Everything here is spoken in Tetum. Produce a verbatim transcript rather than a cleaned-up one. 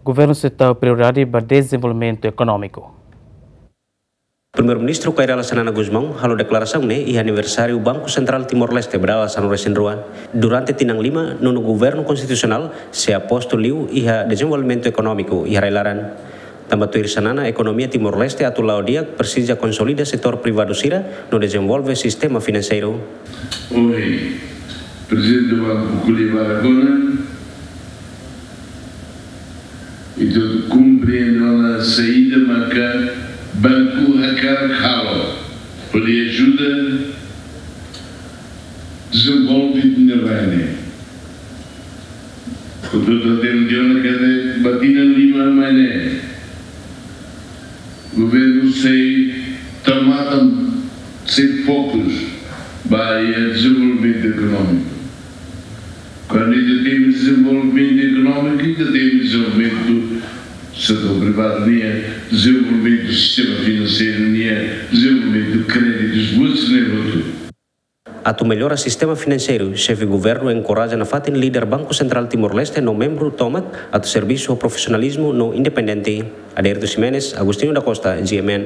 Governu sei tau prioridade ba dezenvolvimentu ekonómiku. Primeiru-Ministru Kay Rala Xanana Gusmão halo deklarasaun ne'e iha aniversáriu Banku Sentrál Timor-Leste ba dala sanulu-resin-rua. Durante tinan lima, nonu Governu Konstitusionál sei aposta liu iha dezenvolvimentu ekonómiku iha rai-laran. Tanba tuir Xanana, ekonomia Timor-Leste atu la'o di'ak presiza konsolida setór privadu sira no dezenvolve sistema finanseiru. Ohin, Prezidente Banku ko'alia ba ita ona, ita komprende ona saida maka banku hakarak halo hodi ajuda dezenvolve ita-nia rai ne'e. Ita hatene ona katak ba tinan lima mai ne'e, Governu sei tau matan, sei fokus ba iha dezenvolvimentu ekonómiku. Kuandu ita temi dezenvolvimentu ekonómiku, ita temi dezenvolvimentu setór privadu nian, dezenvolvimentu sistema finanseiru nian, dezenvolvimentu kréditus, buat sira-ne'e hotu. Atu mellora sistema finanseiru, Xefe Governu enkoraja nafatin líder Banku Sentrál Timor-Leste no membru tomak atu servisu ho profisionalizmu no independente. Adérito Ximenes, Agostinho da Costa, G M N.